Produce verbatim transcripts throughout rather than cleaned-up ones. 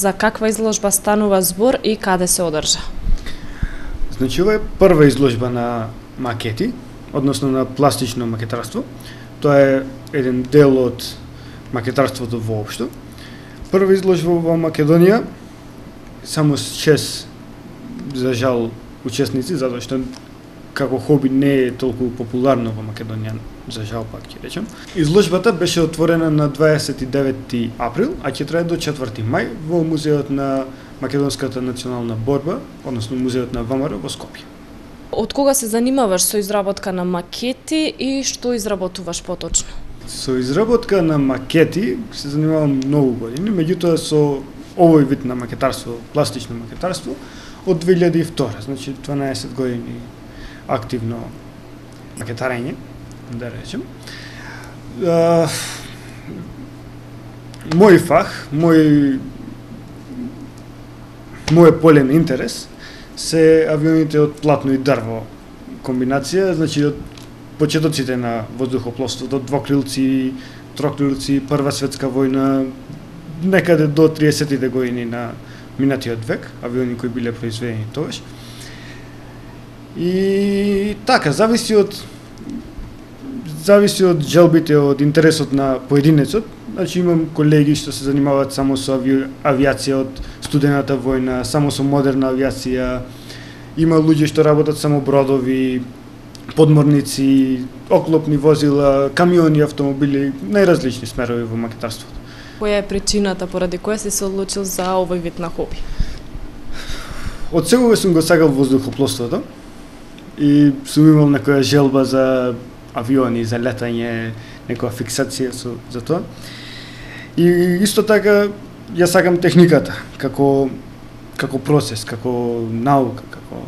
За каква изложба станува збор и каде се одржа? Значи, ова е прва изложба на макети, односно на пластично макетарство. Тоа е еден дел од макетарството воопшто. Прва изложба во Македонија, само шест, за жал, учесници, затоа што како хоби не е толку популарно во Македонија, за жал пак ќе речем. Изложбата беше отворена на дваесет и деветти април, а ќе трае до четврти мај во Музеот на Македонската национална борба, односно Музеот на ВМРО во Скопје. Од кога се занимаваш со изработка на макети и што изработуваш поточно? Со изработка на макети се занимавам многу години, меѓутоа со овој вид на макетарство, пластично макетарство, од две илјади и втора, значи дванаесет години активно макетарење, да речем. А, мој фах, мој мој полен интерес се авионите од платно и дрво комбинација, значи од почетоците на воздухопловството, двокрилци, трокрилци, Прва светска војна, некаде до триесеттите години на минатиот век, авиони кои биле произведени тогаш. И така, зависи од зависи од желбите, од интересот на поединецот. Значи имам колеги што се занимаваат само со ави... авиација од студената војна, само со модерна авиација. Има луѓе што работат само бродови, подморници, оклопни возила, камиони, автомобили, најразлични смерови во макетарството. Која е причината поради која си се одлучил за овој вид на хоби? Од секогаш сум го сакал воздухопловството и сум имал некоја желба за авиони, за летање, некоја фиксација со, за тоа. И исто така ја сакам техниката, како како процес, како наука, како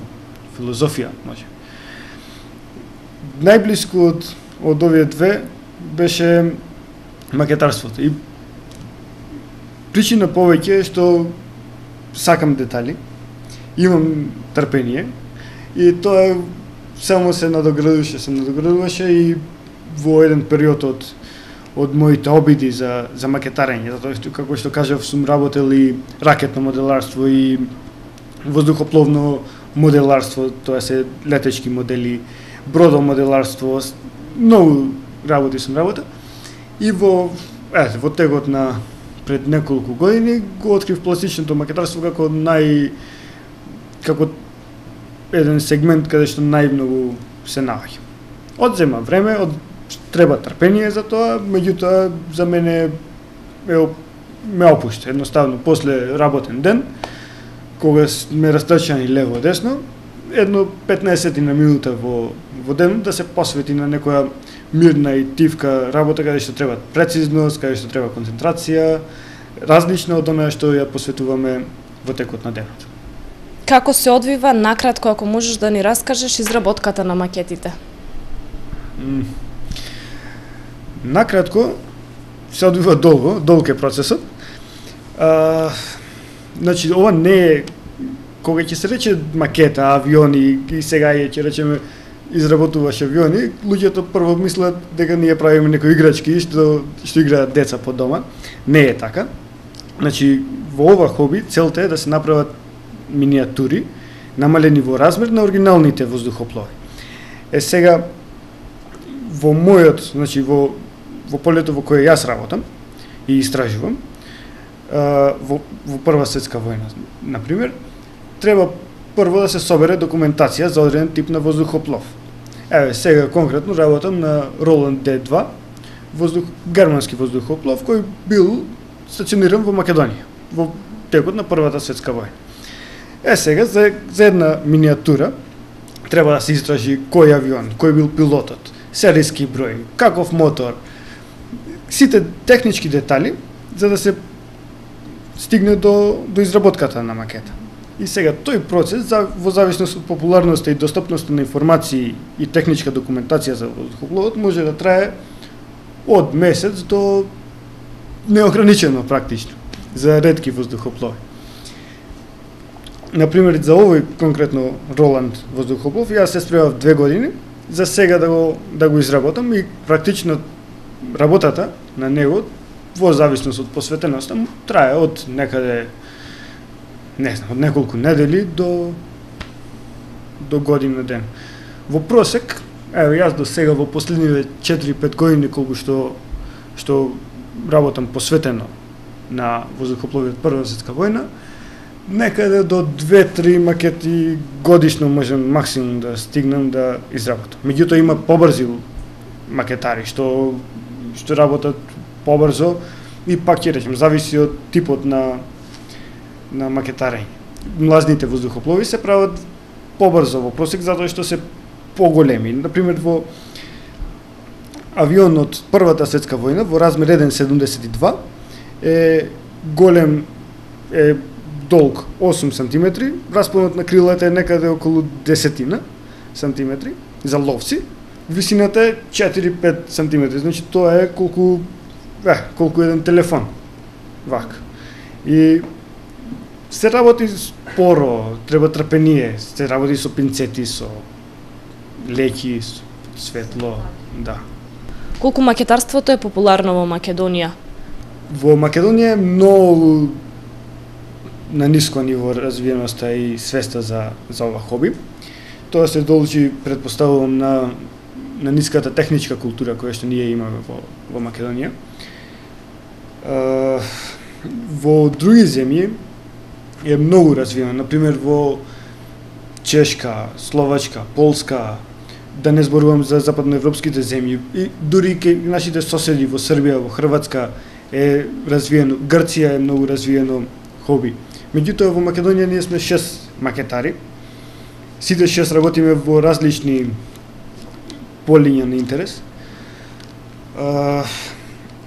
филозофија, може. Најблиску од од овие две беше макетарството. И причина повеќе е што сакам детали, имам трпение и тоа само се надоградуваше, се надоградуваше и во еден период од од моите обиди за за макетарење, затоа што како што кажав сум работел и ракетно моделарство и воздухопловно моделарство, тоа се летечки модели, бродомоделарство, многу работи сум работел. И во е, во текот на пред неколку години го открив пластичното макетарство како нај како еден сегмент каде што најмногу се наоѓа. Одзема време, од треба трпение за тоа, меѓутоа за мене е, ме опушта едноставно после работен ден, кога ме растрчани лево десно, едно петнаесет на минута во во ден да се посвети на некоја мирна и тивка работа каде што треба прецизност, каде што треба концентрација, различна од она што ја посветуваме во текот на денот. Како се одвива накратко, ако можеш да ни раскажеш изработката на макетите? Mm. Накратко се одвива долго, долг е процесот. А, значи ова не е кога ќе се рече макета, авиони и сега е ќе речеме изработуваш авиони, луѓето прво мислат дека ние правиме некои играчки што што играат деца по дома. Не е така. Значи во ова хоби целта е да се направат миниатури намалени во размер на оригиналните воздухоплови. Е сега во мојот, значи во во полето во кое јас работам и истражувам, во во Прва светска војна, на пример, треба прво да се собере документација за одреден тип на воздухоплов. Еве сега конкретно работам на Роланд Д два, воздух германски воздухоплов кој бил стациониран во Македонија во текот на Првата светска војна. Е сега за, за една миниатура треба да се истражи кој авион, кој бил пилотот, серијски број, каков мотор, сите технички детали за да се стигне до до изработката на макета. И сега тој процес за во зависност од популарноста и достапноста на информации и техничка документација за воздухопловот може да трае од месец до неограничено практично за ретки воздухоплови. Например, за овој конкретно Роланд воздухоплов, јас се спремав две години за сега да го да го изработам и практично работата на него во зависност од посветеноста трае од некаде не знам, од неколку недели до до година ден. Во просек, ево јас до сега во последниве четири-пет години колку што што работам посветено на воздухопловиот Прва светска војна, некаде до две-три макети годишно можам максимум да стигнам да изработам. Меѓутоа има побрзи макетари што што работат побрзо и пак ќе речем зависи од типот на на макетарење. Млазните воздухоплови се прават побрзо во просек затоа што се поголеми. Например во авион од Првата светска војна во размер еден zarez седумдесет и два е голем е долг осум сантиметри, распонот на крилата е некаде околу десетина сантиметри за ловци, висината е четири-пет сантиметри, значи тоа е колку е, колку еден телефон. Вака. И се работи споро, треба трпение, се работи со пинцети, со леки, со светло, да. Колку макетарството е популарно во Македонија? Во Македонија е многу на ниско ниво развиеноста и свеста за за ова хоби. Тоа се должи, претпоставувам, на на ниската техничка култура која што ние имаме во во Македонија. Uh, во други земји е многу развиено, например во Чешка, Словачка, Полска, да не зборувам за западноевропските земји, и дури кај нашите соседи во Србија, во Хрватска е развиено, Грција е многу развиено хоби. Меѓутоа во Македонија ние сме шест макетари. Сите шест работиме во различни полиња на интерес. Uh,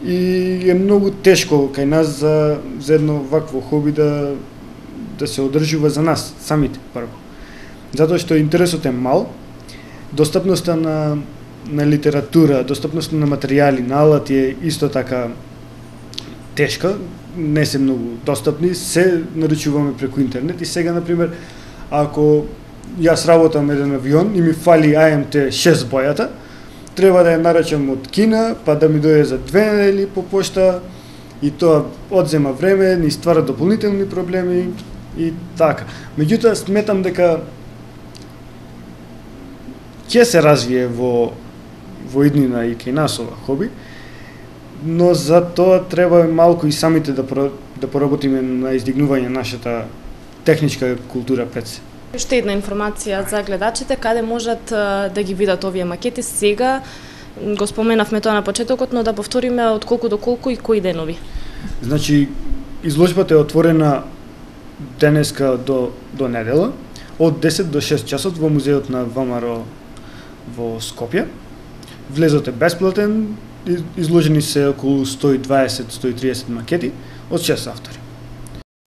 и е многу тешко кај нас за, за едно вакво хоби да, да се одржува за нас самите прво. Затоа што интересот е мал, достапноста на, на литература, достапноста на материјали, на алати е исто така тешка, не се многу достапни, се наручуваме преку интернет и сега, например, ако јас работам еден авион и ми фали А М Т шест бојата, треба да ја нарачам од Кина, па да ми дојде за две недели по пошта и тоа одзема време, ни ствара дополнителни проблеми и така. Меѓутоа сметам дека ќе се развие во во иднина и кај нас ова хоби, но за тоа треба малку и самите да да поработиме на издигнување нашата техничка култура пред се. Уште една информација за гледачите, каде можат да ги видат овие макети сега. Го споменавме тоа на почетокот, но да повториме од колку до колку и кои денови. Значи, изложбата е отворена денеска до до недела, од десет до шест часот во музеот на Во М Р во Скопје. Влезот е бесплатен, изложени се околу сто и дваесет до сто и триесет макети од шест автори.